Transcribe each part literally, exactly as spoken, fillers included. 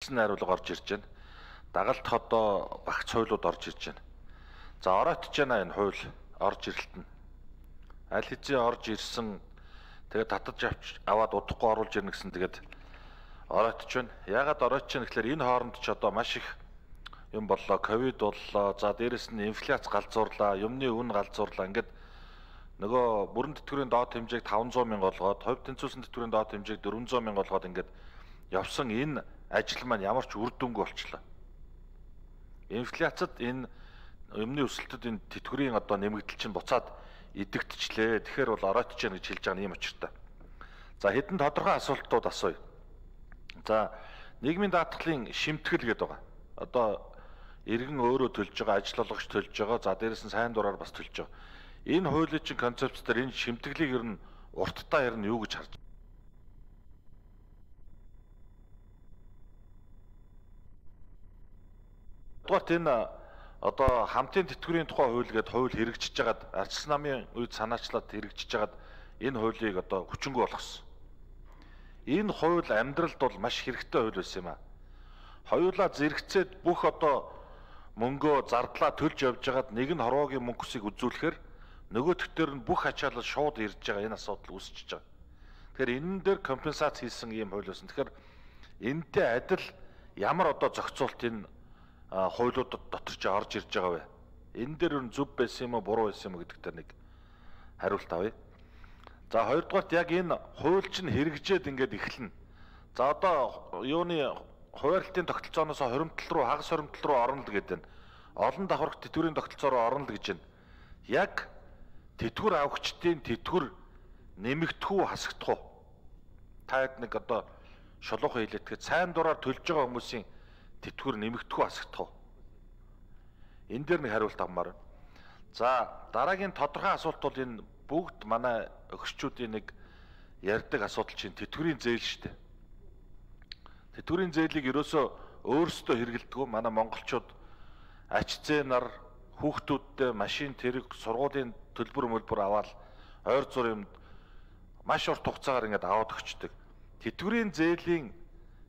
бичсэн найруулга орж ирж байна. Дагалдах одоо багц хуулиуд орж ирж байна. За оройтж байна энэ хууль орж ирэлтэн. Аль хэзээ орж ирсэн тэгээд татаж авч аваад удахгүй оруулж ирнэ гэсэн тэгээд оройтж байна. Яагаад оройтж байна гэхээр энэ хооронд ч одоо маш их юм боллоо, ковид боллоо. За дээрэс нь инфляц галзуурлаа, юмны үн галзуурлаа. Ингээд нөгөө бүрэн тэтгэврийн доод хэмжээг таван зуун мянга болгоод, хувь тэнцвэрсэн тэтгэврийн доод хэмжээг дөрвөн зуун мянга болгоод ингээд явсан энэ ажил маань ямар ч үр дүнгүй болчихлоо. Инфляцид энэ юмны өсөлтөд энэ тэтгэврийн одоо нэмэгдэл чинь буцаад идэгдчихлээ. Тэгэхээр бол оройтж яана гэж хэлж байгаа юм учиртай. За хэдэн тодорхой асуултууд асууя. За нийгмийн даатгалын шимтгэл гэдэг байгаа. Одоо иргэн өөрөө төлж байгаа, ажил олгогч төлж байгаа. За дээрэс нь сайн дураар бас төлж байгаа. Энэ хуулийн чинь концепц дээр энэ шимтгэлийг ер нь урттаа ер нь юу гэж харж байна? Тэгвэл энэ одоо хамтын тэтгэврийн тухай хууль гэдэг хууль хэрэгжиж байгаад ардчилсан намын үед санаачлаад хэрэгжиж байгаад энэ хуулийг одоо хүчингүй болгосон. Энэ хууль амьдралд бол маш хэрэгтэй хууль байсан юм а. Хоёулаа зэрэгцээд бүх одоо мөнгөө зардлаа төлж явж байгаад нэг нь хорвоогийн мөнгөсийг үзүүлэхээр нөгөө төгтөр нь бүх ачаалал шууд ирж байгаа энэ асуудал үүсчихэж байгаа. Тэгэхээр энэ дээр компенсац хийсэн ийм хууль байсан. Тэгэхээр энэтэй адил ямар одоо зохицуулт энэ хуулиудад дотор ч орж ирж байгаа вэ? Энэ дээр нь зөв байсан юм уу, буруу байсан юм уу гэдэг дээр нэг хариулт авъя. За хоёрдугаарт яг энэ хууль чинь хэрэгжээд ингээд эхэлнэ. За одоо юуны хуваарлтын тогтолцооноос хоримтлал руу, хагас хоримтлал руу орно л гэдэг нь. Олон давхарх тэтгэврийн тогтолцоо руу орно л гэж байна. Яг тэтгэвэр авагчдын тэтгэвэр нэмэгдэх үү, хасагдах уу? Та хэд нэг одоо шулуухан хэлээтгэд сайн дураар төлж байгаа хүмүүсийн тэтгэвэр нэмэгдэх үү, хасагдах уу? Энэ дээр нэг хариулт авмаар байна. За дараагийн тодорхой асуулт бол энэ бүгд манай өгччүүдийн нэг ярьдаг асуудал чинь тэтгэврийн зээл шүү дээ. Тэтгэврийн зээлийг ерөөсөө өөрсдөө хэрэгэлдэг. Манай монголчууд ач зээ нар хүүхдүүдтэй машин тэрэг сургуулийн төлбөр мөлбөр аваад ойр зур юмд маш урт хугацаагаар ингээд аваад өгчдөг. Тэтгэврийн зээлийн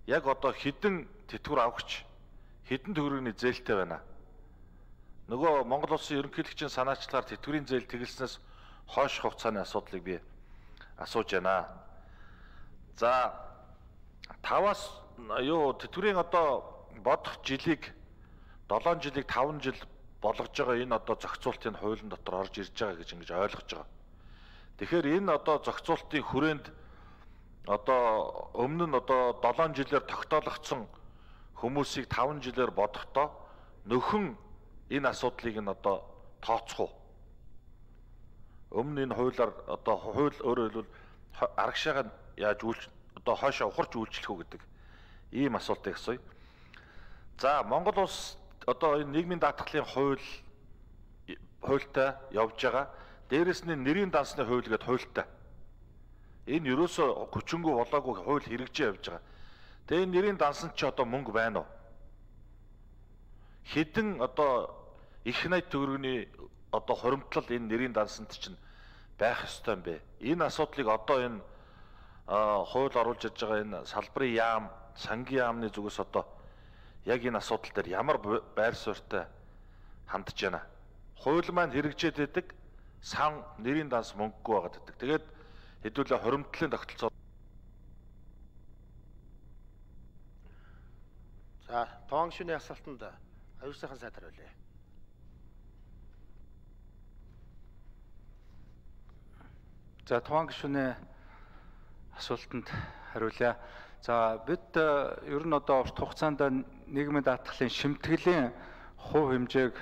яг одоо хэдэн тэтгэвэр авахч хэдэн төгрөгийн зээлтэй байна. Нөгөө Монгол улсын ерөнхийлөгчийн санаачлаар тэтгэврийн зээл тэгэлснээс хойш хугацааны асуудлыг би асууж байна. За таваас юу тэтгэврийн одоо бодох жилиг долоон жилиг таван жил болгож байгаа энэ одоо зохицуултын хуулийн дотор орж ирж байгаа гэж ингэж ойлгож байгаа. Тэгэхээр энэ одоо зохицуултын хүрээнд одоо өмнө нь одоо долоон жилээр тогтоологдсон хүмүүсийг таван жилээр бодохдоо нөхөн энэ асуудлыг нь одоо тооцох уу? Өмнө энэ хуулиар одоо хууль өөрөөр хэлбэл арагшаага яаж үйлч одоо хойшоо ухарч үйлчлэх үү гэдэг ийм асуултыг асууя. За Монгол улс одоо энэ нийгмийн даатгалын хууль хуультай явж байгаа. Дээрэс нь нэрийн дансны хууль гэдэг хуультай. Энэ ерөөсөө хүчингүй болоогүй хууль хэрэгжиж явж байгаа. Тэгээ энэ нэрийн дансанд ч одоо мөнгө байна уу? Хэдэн одоо их найт төгрөгийн одоо хоримтлал энэ нэрийн дансанд чинь байх ёстой юм бэ? Энэ асуудлыг одоо энэ хууль оруулж ирж байгаа энэ салбарын яам, сангийн яамны зүгээс одоо яг энэ асуудал дээр ямар байр суурьтай хандж байна? Хууль маань хэрэгжээд байдаг, сан нэрийн данс мөнгөгүй байгаад байдаг. Тэгээд хэдүүлээ хоримтлалын тогтолцоо. За, тоон гишүүний асуултанд аюул сайхан сайд хариулъя. За, тоон гишүүний асуултанд хариулъя. За бид ер нь одоо урт хугацаанд нийгмийн даатгалын шимтгэлийн хувь хэмжээг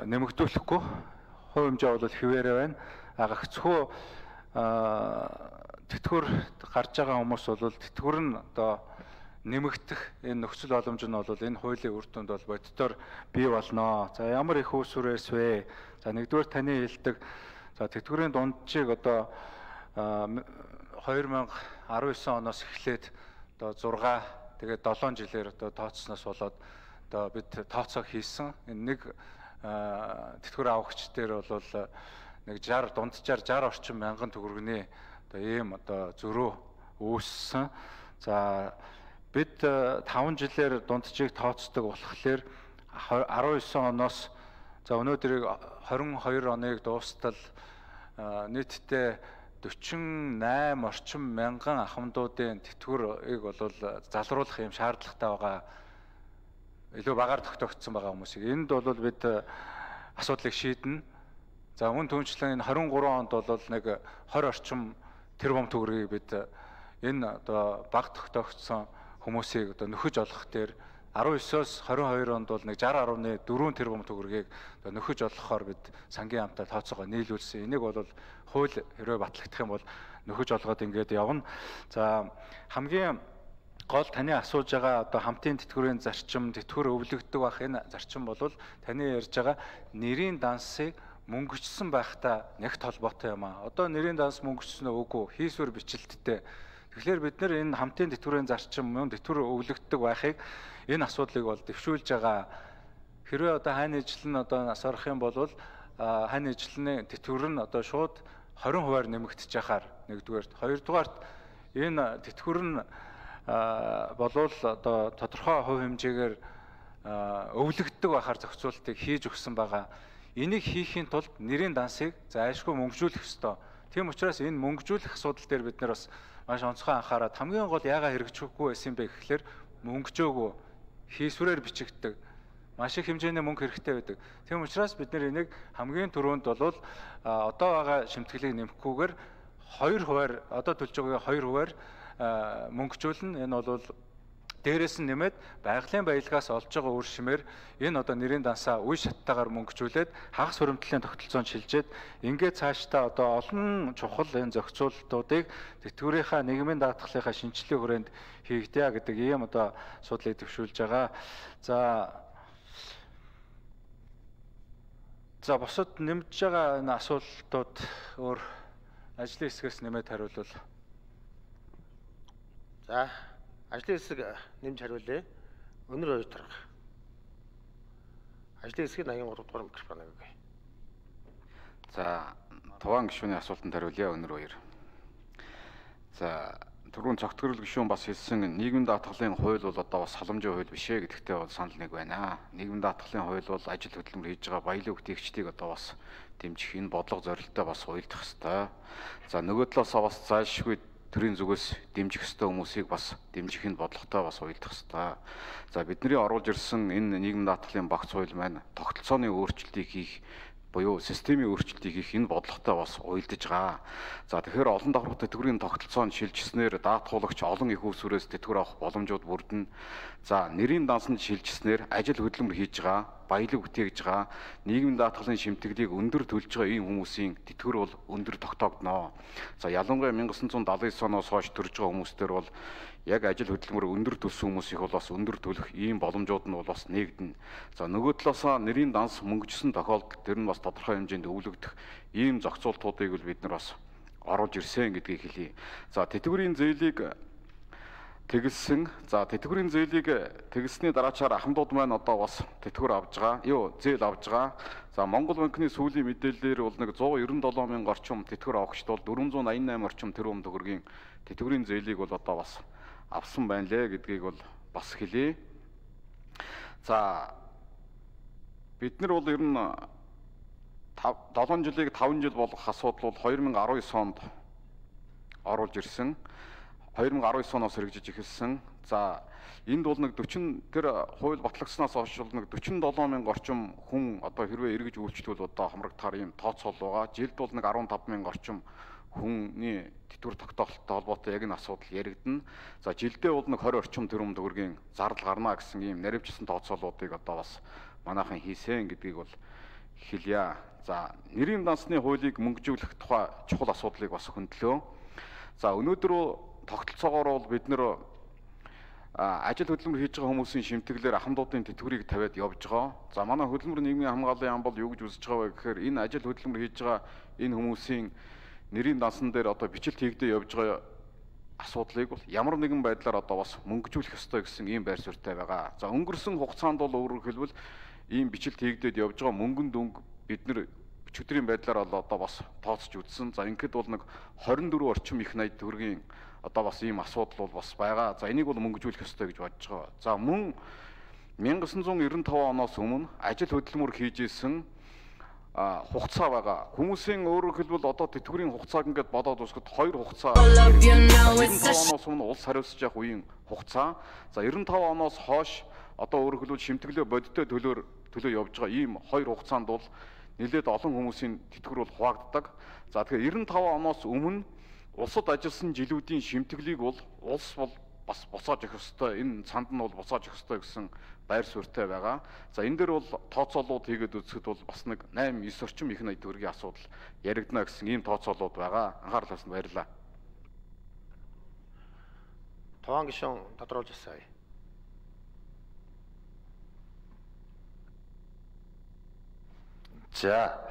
нэмэгдүүлэхгүй. Хувь хэмжээ бол хэвээрээ байна. Гагцхүү тэтгэвэр гарч байгаа хүмүүс бол тэтгэвэр нь одоо нэмэгдэх энэ нөхцөл боломж нь бол энэ хуулийн үр дүнд бол боддоор бий болно. За ямар их үүсвэрээс вэ? За нэгдүгээр таны хэлдэг за тэтгэврийн дунджийг одоо хоёр мянга арван девять оноос эхлээд одоо зурга тэгээд долоон жилээр одоо тооцсноос болоод одоо бид тооцоо хийсэн. Энэ нэг тэтгэвэр авагч дээр бол нэг шестьдесят дунджаар шестьдесят орчим мянган төгрөгийн одоо ийм одоо зөрөө үүссэн. За бид таван жилээр дунджийг тооцдог болохоор арван девять оноос за өнөөдрийг двадцать и two оныг дуустал нийтдээ forty-eight орчим мянган ахмадуудын тэтгэврийг бол залруулах юм шаардлагатай байгаа. Илүү багаар тогтоогдсон байгаа хүмүүсийг. Энд бол бид асуудлыг шийднэ. За мөн түүнчлэн энэ twenty-three онд бол нэг twenty орчим тэрбум төгрөгийг бид энэ одоо баг тогтоогдсон хүмүүсийг одоо нөхөж олох дээр nineteen-оос twenty-two онд бол нэг sixty point four тэрбум төгрөгийг одоо нөхөж олохоор бид сангийн хамтаа тооцоогоо нийлүүлсэн. Энийг бол хууль хэрвээ батлагдах юм бол нөхөж олгоод ингээд явна. За хамгийн гол таны асууж байгаа одоо хамтын тэтгэврийн зарчим, тэтгэвэр өвлөгддөг байх энэ зарчим бол таны ярьж байгаа нэрийн дансыг мөнгөчсөн байхдаа нэгт холбоотой юм аа. Одоо нэрийн данс мөнгөчсөн үгүй хийсвэр бичлэлттэй. Тэгэхээр бид нэр энэ хамтын тэтгэврийн зарчим мөн тэтгэвэр өвлөгддөг байхыг энэ асуудлыг бол дэвшүүлж байгаа. Хэрвээ одоо хань ижил нь одоо нас орох юм бол хань ижилний тэтгэвэр нь одоо шууд twenty хувиар нэмэгдэж яхаар нэгдүгээрт, хоёрдугаарт энэ тэтгэвэр нь болвол одоо тодорхой хувь хэмжээгээр өвлөгддөг байхаар зохицуултыг хийж өгсөн байгаа. Энийг хийхийн тулд нэрийн дансыг зайлшгүй мөнгөжүүлэх ёстой. Тийм учраас энэ мөнгөжүүлэх асуудал дээр бид нар бас маш онцгой анхаарал хамгийн гол яагаад хэрэгжихгүй байсан бэ гэхлээр мөнгөжөөгүй хийсвэрээр бичигддэг маш их хэмжээний мөнгө хэрэгтэй байдаг. Тийм учраас бид нар энийг хамгийн түрүүнд бол одоо байгаа шимтгэлийг нэмэхгүйгээр two хувиар одоо төлж байгаагийн two хувиар мөнгөжүүлнэ. Энэ бол дээрээс нь нэмээд байгалийн баялгаас олж байгаа үр шимээр энэ одоо нэрийн дансаа үе шаттайгаар мөнгөжүүлээд хагас хуримтлалын тогтолцоонд шилжээд ингээд цаашдаа одоо олон чухал энэ зохицуулалтуудыг тэтгэврийнхаа нийгмийн даатгалынхаа шинжилгээ хүрээнд хийгдээ гэдэг ийм одоо асуудлыг төвшүүлж байгаа. За За босод нэмж байгаа энэ асуултууд өөр ажлын хэсгээс нэмээд хариулвал. За ажлын хэсэг нэмж хариулъя. Өнөр хоёр дарга. Ажлын хэсгийн eighty-three дугаар микрофон авъя. За Туван гишүүний асуултанд хариулъя өнөр хоёр. За түрүүн цогтгөрөл гишүүн бас хэлсэн нийгмийн даатгалын хууль бол одоо бас халамжийн хууль биш ээ гэдэгтээ бол санал нэг байна. Нийгмийн даатгалын хууль бол ажил хөдөлмөр хийж байгаа баялаг бүтээгчдийг одоо бас дэмжих энэ бодлого зорилттой бас уялдах ёстой. За нөгөө талаасаа бас зайлшгүй төрийн зүгээс дэмжих ёстой хүмүүсийг бас дэмжих энэ бодлоготой бас уялдах ёстой. За бидний оруулж ирсэн энэ нийгмийн даатгалын багц хууль маань тогтолцооны өөрчлөлтийг хийх буюу системийн өөрчлөлтийг хийх энэ бодлоготой бас уялдаж байгаа. За тэгэхээр олон давхар тэтгэврийн тогтолцоонд шилжснээр даатгуулагч олон их усүрээс тэтгэвэр авах боломжууд бүрдэнэ. За нэрийн дансанд шилжснээр ажил хөдөлмөр хийж байгаа, баялаг бүтээгж байгаа, нийгмийн даатгалын шимтгэлийг өндөр төлж байгаа ийм хүмүүсийн тэтгэвэр бол өндөр тогтоогдно. За ялангуяа nineteen seventy-nine оноос хойш төрж байгаа хүмүүстэр бол яг ажил хөдөлмөр өндөр төлсөн хүмүүсийг бол бас өндөр төлөх ийм боломжууд нь бол бас нэгдэнэ. За нөгөө талаасаа нэрийн данс мөнгөжсөн тохиолдолд тэр нь бас тодорхой хэмжээнд өвлөгдөх ийм зохицуултуудыг бол бид нар бас оруулж ирсэн гэдгийг хэлье. За тэтгэврийн зээлийг тэгэлсэн. За тэтгэврийн зээлийг тэгэлсний дараачаар ахмадууд маань одоо бас тэтгэвэр авж байгаа. Юу, зээл авж байгаа. За Монгол банкны сүүлийн мэдээллээр бол нэг one ninety-seven мянган орчим тэтгэвэр авахчд бол four eighty-eight орчим тэрбум төгрөгийн тэтгэврийн зээлийг бол одоо бас авсан байна лээ гэдгийг бол бас хэлье. За бид нар бол ер нь seven жилийг five жил болгох асуудал бол twenty nineteen онд оруулж ирсэн. twenty nineteen оноос хэрэгжиж эхэлсэн. За энд бол нэг forty тэр хууль батлагдсанаас хойш бол нэг forty-seven мянган орчим хүн одоо хэрвээ эргэж үйлчлвэл одоо хамрагдахаар ийм тооцоол байгаа. Жилд бол нэг fifteen мянган орчим хүний тэтгэвэр тогтоолттой холбоотой яг энэ асуудал яригдана. За жилдээ бол нэг twenty орчим тэрбум төгрөгийн зардал гарна гэсэн ийм наривчсан тооцоолуудыг одоо бас манайхан хийсэн гэдгийг бол хэлье. За нэрийн дансны хуулийг мөнгөжүүлэх тухай чухал асуудлыг бас хөндлөө. За өнөөдөр тогтолцоогоор бол бид нэр ажил хөдөлмөр хийж байгаа хүмүүсийн шимтгэлээр ахмадуудын тэтгэврийг тавиад явж байгаа. За манай хөдөлмөр нийгмийн хамгааллын ам бол юу гэж үзэж байгаа вэ гэхээр энэ ажил хөдөлмөр хийж байгаа энэ хүмүүсийн нэрийн дансан дээр одоо бичлэлт хийгдээ явж байгаа асуудлыг бол ямар нэгэн байдлаар одоо бас мөнгөжүүлэх ёстой гэсэн ийм байр суурьтай байгаа. За өнгөрсөн хугацаанд бол өөрөөр хэлбэл ийм бичлэлт хийгдээд явж байгаа мөнгөн дүнг бид нэр өчигдрийн байдлаар бол одоо бас тооцож үзсэн. За ингээд бол нэг twenty-four орчим их найд төгрөгийн одоо бас ийм асуудал бол бас байгаа. За энийг бол мөнгөжүүлэх ёстой гэж бодож байгаа. За мөн мянга девятьсот девяносто пять оноос өмнө ажил хөдөлмөр хийж исэн хугацаа байгаа. Хүмүүсийн өөрөөр хэлбэл одоо тэтгэврийн хугацааг ингээд бодоод үзэхэд хоёр хугацаа. девяносто пять оноос өмнө улс хариуцж явах үеийн хугацаа. За девяносто пять оноос хойш одоо өөрөөр хэлбэл шимтгэлөө бодиттой төлөөр төлөө явж байгаа ийм хоёр хугацаанд бол нэлээд олон хүмүүсийн тэтгэвэр бол хуваагддаг. За тэгэхээр девяносто пять оноос өмнө улсад ажилласан жилүүдийн шимтгэлийг бол улс бол бас буцааж өгөх ёстой. Энэ цанд нь бол буцааж өгөх ёстой гэсэн байр суурьтай байгаа. За энэ дээр бол тооцоолууд хийгээд үзэхэд бол бас нэг восемь девять орчим их найд төгрөгийн асуудал яригдана гэсэн ийм тооцоолууд байгаа. Анхаарал тавьсанд баярлалаа. Таван гишүүн тодруулж асууя. За.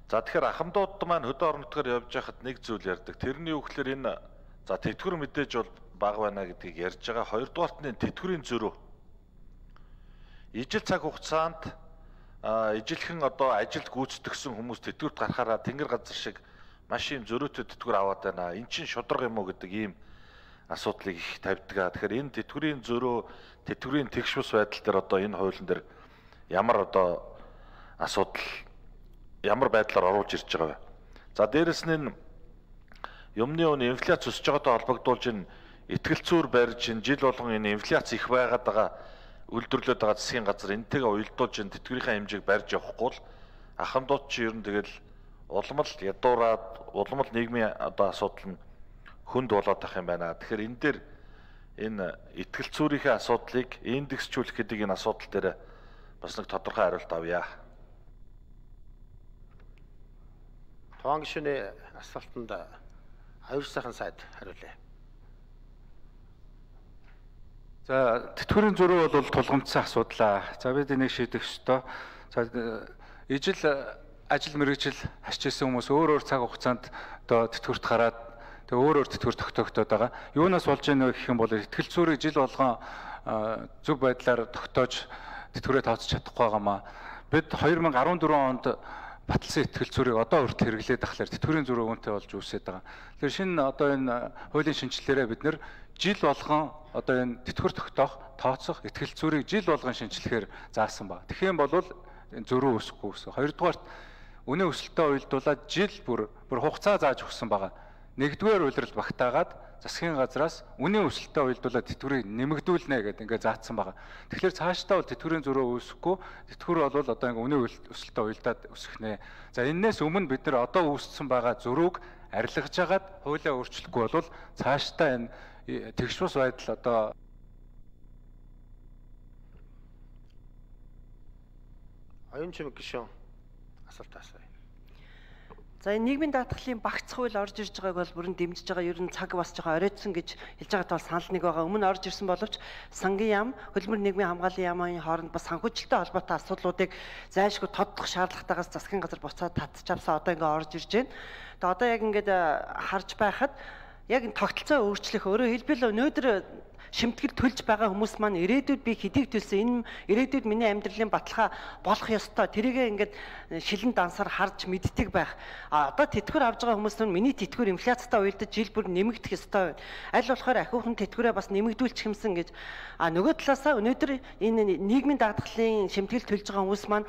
За тэгэхээр ахмадууд маань хөдөө орон нутгаар явж байхад нэг зүйл ярьдаг. Тэрний үгээр энэ за тэтгэвэр мэдээж бол бага байна гэдгийг ярьж байгаа. Хоёрдугаарт нь тэтгэврийн зөрүү. Ижил цаг хугацаанд ижилхэн одоо ажилд гүйцэтгэсэн хүмүүс тэтгэврт гарахаараа тэнгэр газар шиг маш юм зөрөөтэй тэтгэвэр аваад байна. Эн чинь шударга юм уу гэдэг ийм асуудлыг их тавьдаг. Тэгэхээр энэ тэтгэврийн зөрөө, тэтгэврийн тэгш бус байдал дээр одоо энэ хуулийн дээр ямар одоо асуудал ямар байдлаар оруулж ирж байгаа вэ? За дээрэс нь юмны өн инфляц өсөж байгаатай холбогдуулж энэ итгэл зүйр барьж энэ жил болгон энэ инфляц их байгаад байгаа үйлдвэрлээд байгаа засгийн газар энтэйгээ уялдуулж энэ тэтгэврийн хэмжээг барьж явахгүй л ахмадууд чи ер нь тэгэл улам л ядуураад улам л нийгмийн одоо асуудал нь хүнд болоод ах юм байна. Тэгэхээр энэ дээр энэ итгэл зүйрийнхээ асуудлыг индексжүүлэх гэдэг энэ асуудал дээр бас нэг тодорхой хариулт авъя. Таван гишүүний асуултанд аюул сайхан сайд хариулъя. За тэтгэврийн зөрүү бол тулгамдсан асуудал. За бид энийг шийдэх ёстой. За ижил ажил мэргэжил хасч ирсэн хүмүүс өөр өөр цаг хугацаанд одоо тэтгэврт гараад тэгээ өөр өөр тэтгэвэр тогтоогдоод байгаа. Юунаас болж ийнэ гэх юм бол итгэл зүйрийг жил болгон зөв байдлаар тогтоож тэтгэврээ тооцож чадахгүй байгаамаа. Бид две thousand fourteen онд баталсан итгэл зүйрийг одоо хүртэл хэрэглээд ахлаар тэтгэврийн зөрүү үүнтэй болж үүсээд байгаа. Тэгэхээр шинэ одоо энэ хуулийн шинжилгээрээ бид нэр жил болгон одоо энэ тэтгэвэр тогтоох, тооцох итгэл зүйрийг жил болгон шинжилгээр заасан байна. Тэгэх юм бол зөрүү үүсэхгүй гэсэн. Хоёрдугаарт үнэ өсөлтөд уялдуулаад жил бүр бүр хугацаа зааж өгсөн байгаа. Нэгдүгээр улирал багтаагаад засгийн газраас үнэ өсөлтөд уялдуулаад тэтгэврийг нэмэгдүүлнэ гэдэг ингээд заасан байгаа. Тэгэхээр цаашдаа бол тэтгэврийн зөрөө үүсэхгүй. Тэтгэвэр бол одоо ингээд үнэ өсөлтөд уялдаад өсөхнэ. За энээс өмнө бид нар одоо үүссэн байгаа зөрүүг арилгаж агаад хуулиа өөрчлөхгүй бол цаашдаа энэ тэгш бус байдал одоо оюун чимэг гишүүн асуулт асууя. За энэ нийгмийн даатгалын багц хууль орж ирж байгааг бол бүрэн дэмжиж байгаа. Ер нь цаг бас жоохон оройтсон гэж хэлж байгаатай бол санал нэг байгаа. Өмнө орж ирсэн боловч сангийн яам, хөдөлмөр нийгмийн хамгааллын яамын хооронд бас санхүүжилттэй холбоотой асуудлуудыг зайлшгүй тодтох шаардлагатайгаас засгийн газар буцаад татчихавсаа одоо ингээ орж ирж байна. Тэгээ одоо яг ингээд харж байхад яг энэ тогтолцоо өөрчлөх өөрөөр хэлбэл өнөөдөр шимтгэл төлж байгаа хүмүүс маань ирээдүйд би хэдийг төлсөн энэ ирээдүйд миний амьдралын баталгаа болох ёстой. Тэрийгээ ингээд шилэн дансаар харж мэддэг байх. А одоо тэтгэвэр авж байгаа хүмүүс нь миний тэтгэвэр инфляцтай уялдаж жил бүр нэмэгдэх ёстой. Аль болохоор ахиухан тэтгэврээ бас нэмэгдүүлчих юмсан гэж. А нөгөө талаасаа өнөөдөр энэ нийгмийн даатгалын шимтгэл төлж байгаа хүмүүс маань